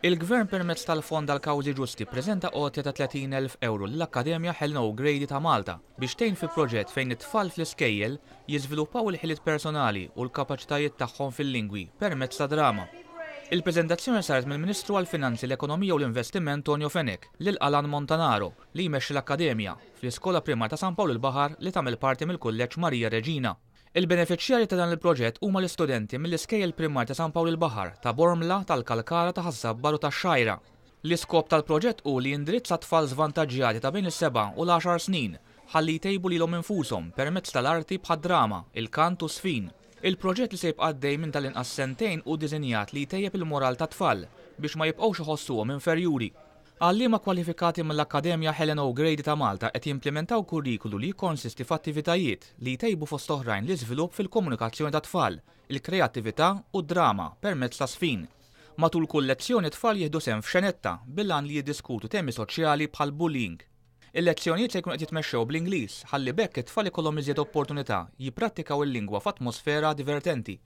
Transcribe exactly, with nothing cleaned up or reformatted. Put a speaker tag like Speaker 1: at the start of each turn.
Speaker 1: Il-Gvern permezz tal-Fond għall-Kawżi Ġusti ppreżenta għotja ta' tletin elf ewro lill-Akkademja Helen O'Grady ta' Malta biex tgħin fi proġett fejn it-tfal fl-iskejjel jiżviluppaw il-ħiliet personali u l-kapaċitajiet tagħhom fil-lingwi permezz ta' drama. Il-preżentazzjoni saret mill-Ministru għall-Finanzi, l-Ekonomija u l-Investiment Tonio Fenech lil Alan Montanaro li jmexxi l-Akkademja fl-Iskola Primarja ta' San Pawl il-Baħar li tagħmel parti mill-Kulleġġ Marija Reġina. Il-benefiċjarji ta' dan il-proġett huma l-istudenti mill-iskejjel primarji ta' San Pawl il-Baħar, ta' Bormla, tal-Kalkara, ta' Ħaż-Żabbar u tax-Xgħajra. L-iskop tal-proġett hu li jindirizza tfal żvantaġġjati ta' bejn is-seba' u l-għaxar snin ħalli jtejbu lilhom infushom permezz tal-arti bħad-drama, il-kant u s-sfin. Il-proġett li se jibqa' għaddej minn tal-inqas sentejn hu diżinjat li jtejjeb il-moral tat-tfal biex ma jibqgħux iħossuhom inferjuri. Għalliema kwalifikati mill-Akkademja Helen O'Grady ta' Malta qed jimplementaw kurrikulu li jikkonsisti f'attivitajiet li jtejbu fost oħrajn l-iżvilupp fil-komunikazzjoni tat-tfal, il-kreattività u d-drama permezz ta' sfin. Matul kull lezzjoni t-tfal jieħdu sehem f'xenetta bil-għan li jiddiskutu temi soċjali bħal bullying. Il-lezzjonijiet se jkunu qed jitmexxew bl-Ingliż ħalli b'hekk it-tfal ikollhom iżjed opportunità jipprattikaw il-lingwa f'atmosfera divertenti.